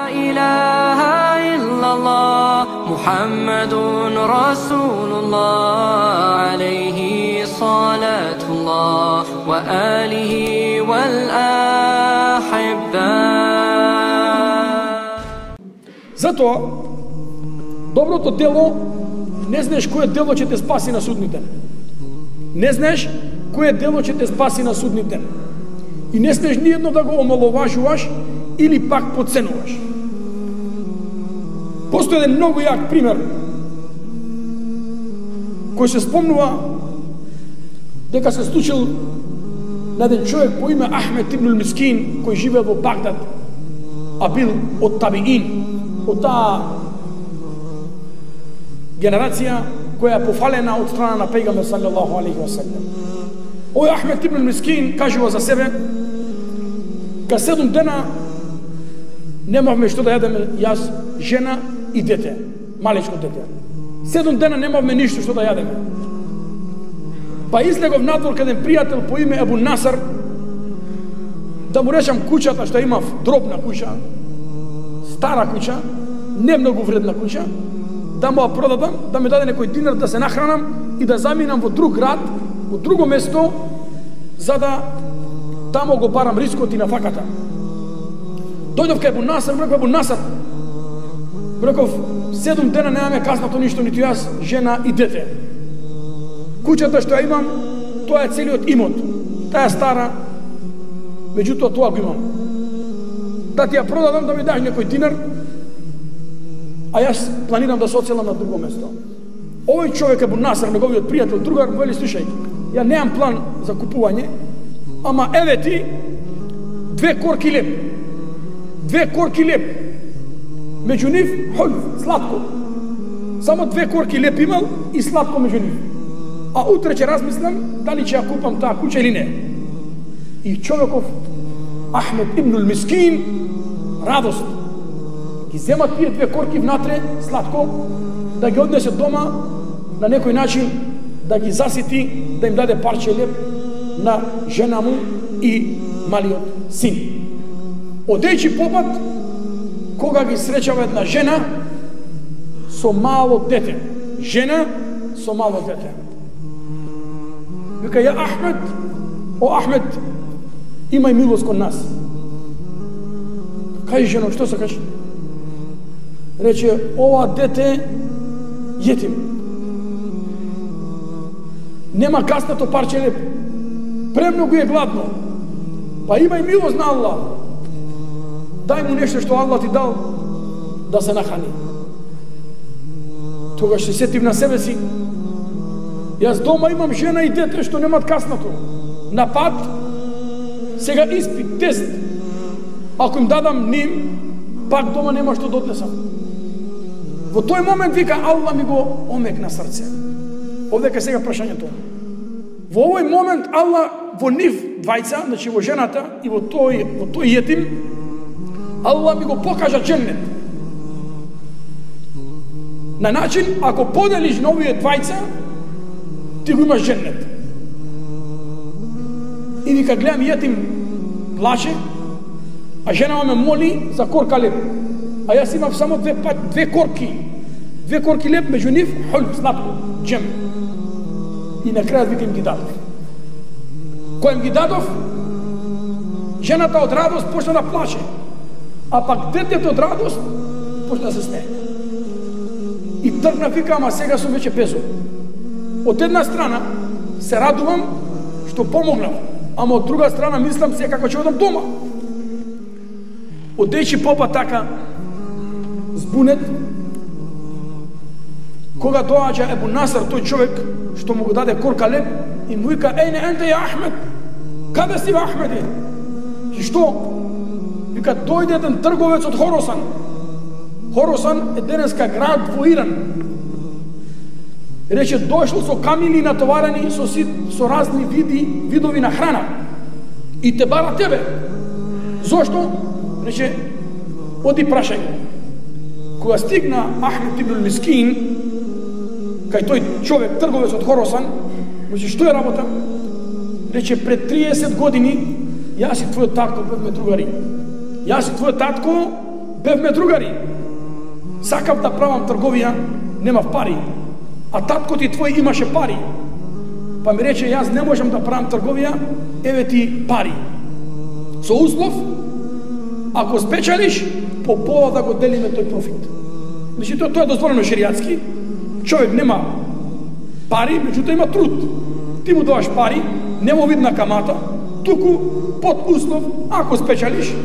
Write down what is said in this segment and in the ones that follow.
إله إلا الله محمد رسول الله عليه صلاة الله وآله والأحبة. Затоа доброто дело не знаеш кое дело ќе те спаси на судниот ден. Не знаеш кое дело ќе те спаси на судниот ден. И не смеш ниедно да го омаловажуваш или пак подценуваш. Постои еден многу јак пример кој се спомнува дека се случил на еден човек по име Ахмед ибн Мискин, кој живеел во Багдад, а бил од табиин, од таа генерација која е пофалена од страна на пејгамбер саллаллаху алейхи ва саллем. Овој Ахмед ибн Мискин кажува за себе: ка 7 дена немавме што да јадеме, јас, жена и дете, малечко дете. 7 дена немавме ништо што да јадеме. Па излегов надвор кај еден пријател по име Ебу Насар да му речам куќата што имав, дробна куќа, стара куќа, не многу вредна куќа, да му ја продадам, да ми даде некој динар да се нахранам и да заминам во друг град, во друго место, за да тамо го барам рискот и на факата. Дојдов кај Ебу Насар, реков: Ебу Насар, реков, 7 дена немаме каснато ништо, ниту јас, жена и дете. Куќата што ја имам, тоа е целиот имот. Таа е стара, меѓутоа тоа го имам. Да ти ја продадам, да ми даш некој динар, а јас планирам да се оцелам на друго место. Овој човек, Ебу Насар, неговиот пријател, другар, вели: слушај, ја немам план за купување, ама еве ти 2 корки леп. 2 корки леп. Меѓу нив хол, сладко. Само 2 корки леп имал и сладко меѓу нив. А утре ќе размислам дали ќе ја купам таа куќа или не. И човеков Ахмед ибн Мискин радост ги земат тие 2 корки внатре сладко, да ги однесе дома, на некој начин да ги засити, да им даде парче леп на жена му и малиот син. Одејќи попат, кога ги среќава една жена со мало дете. Жена со мало дете. Вика: ја Ахмед, о Ахмед, имај милост кон нас. Кажи жено, што сакаш? Рече: ова дете јетим. Нема каснато парче леп. Премногу е гладно. Па имај милост на Аллах. Дај му нешто што Аллах ти дал да се нахрани. Тогаш се сетив на себе си. Јас дома имам жена и дете што немат каснато. На пат, сега испит, тест. Ако им дадам ним, пак дома нема што да однесам. Во тој момент вика Аллах ми го омекна срце. Овдека сега прашањето. Во овој момент Аллах во нив двајца, значи во жената и во тој јетим, Аллах ми го покажа дженнет. На начин, ако поделиш на овие двајца, ти го имаш дженнет. И вика, гледам јетим плаче, а жена ме моли за корка леп. А јас имав само 2 корки. 2 корки леп, меѓу нив хул, сладко, джем. И на крајот вика им ги дадов. Кој им ги дадов, жената од радост почна да плаче. А пак детето од радост почна да се смее. И тргна, вика, ама сега сум веќе безум. Од една страна се радувам што помогнав, ама од друга страна мислам се како ќе одам дома. Одејќи попа така збунет, кога доаѓа Ебу Насар, тој човек што му го даде корка леп, и му вика: ејне енте ја Ахмед, каде си бе Ахмеде? И што? Вика: дојде еден трговец од Хоросан. Хоросан е денеска град во Иран. Рече: дојшол со камили натоварени со разни видови на храна и те бара тебе. Зошто? Рече: оди прашај. Кога стигна Ахмед ибн Мискин кај тој човек, трговец од Хоросан, рече: што е работа? Рече: пред 30 години јас и твојот татко бевме другари. Јас и твојот татко Бевме другари. Сакав да правам трговија, немав пари. А татко ти твој имаше пари. Па ми рече, јас не можам да правам трговија, еве ти пари. Со услов, ако спечалиш, по пола да го делиме тој профит. Значи, тоа е дозволено шеријатски. Човек нема пари, меѓутоа има труд. Ти му даваш пари, нема видна камата, туку под услов, ако спечалиш,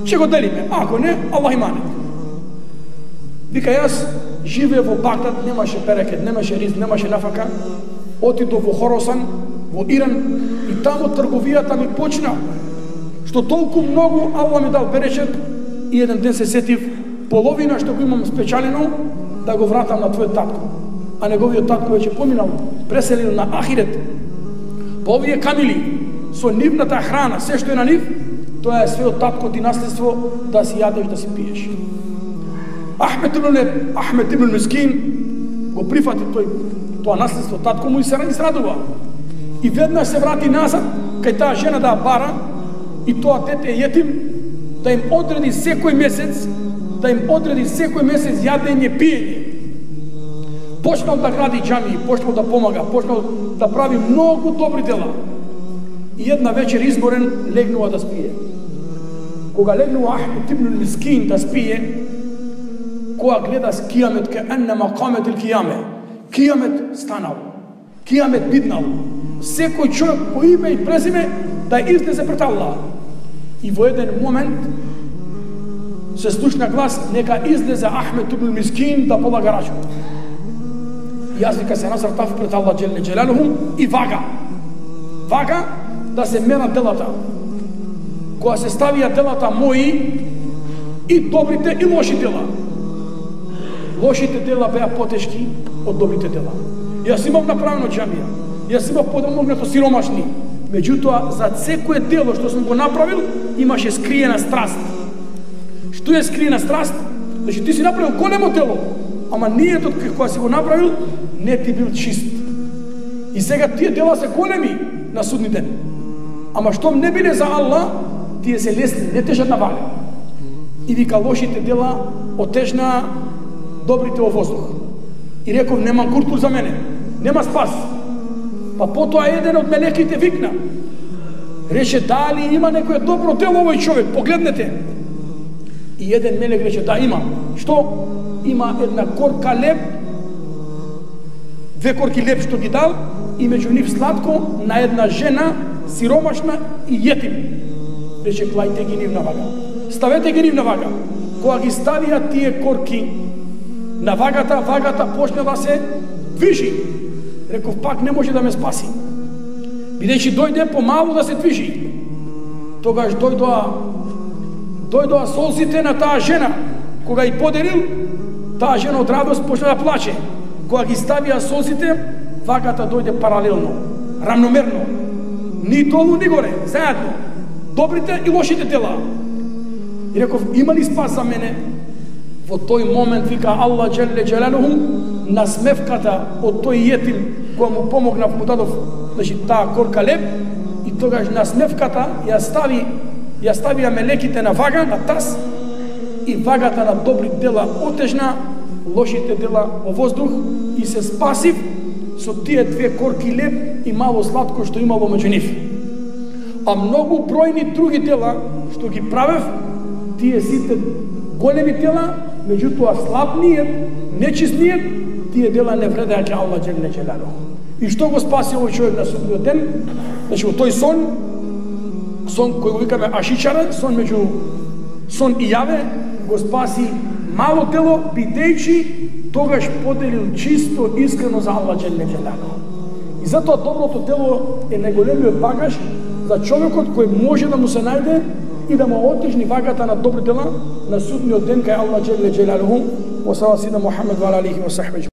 ќе го делиме. Ако не, Аллах имане. Вика, јас живеев во Багдад, немаше берекет, немаше ризк, немаше нафака. Отидов во Хоросан, во Иран, и таму трговијата ми почна. Што толку многу Аллах ми дал берекет, и еден ден се сетив, половина што го имам спечалено, да го вратам на твојот татко. А неговиот татко веќе поминал, преселил на Ахирет. Па овие камили, со нивната храна, се што е на нив, тоа е све од татко ти наследство, да си јадеш, да си пиеш. Ахмед ибн Мискин го прифати тоа наследство, татко му и се израдува. И веднаш се врати назад, кај таа жена да бара, и тоа дете јетим, да им одреди секој месец, јадење, пиење. Почнал да гради џамии, почнал да помага, почнал да прави многу добри дела. И една вечер изморен легнува да спие. Кога легнува Ахмед ибн Мискин да спие, кога гледа с кијамет, ке еннема камет ил кијаме. Кијамет станал, кијамет биднал. Секој човек по име и презиме да излезе пред Аллах. И во еден момент се слушна глас, нека излезе Ахмед ибн Мискин да полага рачун. Јас вика се насртав пред Аллах Джелле Джелалуху и вага да се мерат делата. Кога се ставија делата мои, и добрите и лоши дела. Лошите дела беа потешки од добрите дела. Јас имав направено џамија, јас имав подомогнато сиромашни. Меѓутоа, за секое дело што сум го направил, имаше скриена страст. Што е скриена страст? Значи, ти си направил големо дело, ама ниетот кога си го направил, не ти бил чист. И сега тие дела се големи на судни ден. Ама штом не биле за Аллах, тие се лесни, не тежат на вале. И вика, лошите дела отежна добрите во воздух. И реков, нема куртур за мене, нема спас. Па потоа еден од мелеките викна. Рече, дали има некој добро дело овој човек, погледнете. И еден мелек рече, да има. Што? Има една корка леб, две корки леб што ги дал, и меѓу нив сладко на една жена, сиромашна и јетим. Рече, клајте ги нив на вага. Ставете ги нив на вага. Кога ги ставија тие корки на вагата, вагата почна да се движи. Реков, пак не може да ме спаси. Бидејќи дојде помалу да се движи. Тогаш дојдоа солзите на таа жена. Кога ги подарил, таа жена од радост почна да плаче. Кога ги ставија солзите, вагата дојде паралелно, рамномерно. Ни долу, ни горе, заедно. Добрите и лошите дела. И реков, има ли спас за мене? Во тој момент, вика Аллах Джелле Джелалуху, насмевката од тој јетим, која му помогнав, му дадов, значи, таа корка леб, и тогаш насмевката ја ставија мелеките на вага, на таз, и вагата на добри дела отежна, лошите дела во воздух, и се спасив со тие две корки леб и мало сладко што имало меѓу нив. А многу бројни други дела што ги правев, тие сите големи дела, меѓутоа слабниот, нечистниот, тие дела не вредеа ке Аллах Джелле Джелалуху. И што го спаси овој човек на судниот ден? Значи, во тој сон кој го викаме Ашичара, сон меѓу сон и јаве, го спаси мало дело, бидејќи тогаш поделил чисто, искрено за Аллах Джелле Джелалуху. И затоа доброто дело е најголемиот багаж за човекот кој може да му се најде и да му отежни вагата на добри дела на судниот ден кај Аллах Джелле Джелалуху. Wa sallallahu Muhammad wa alihi wa sahbihi.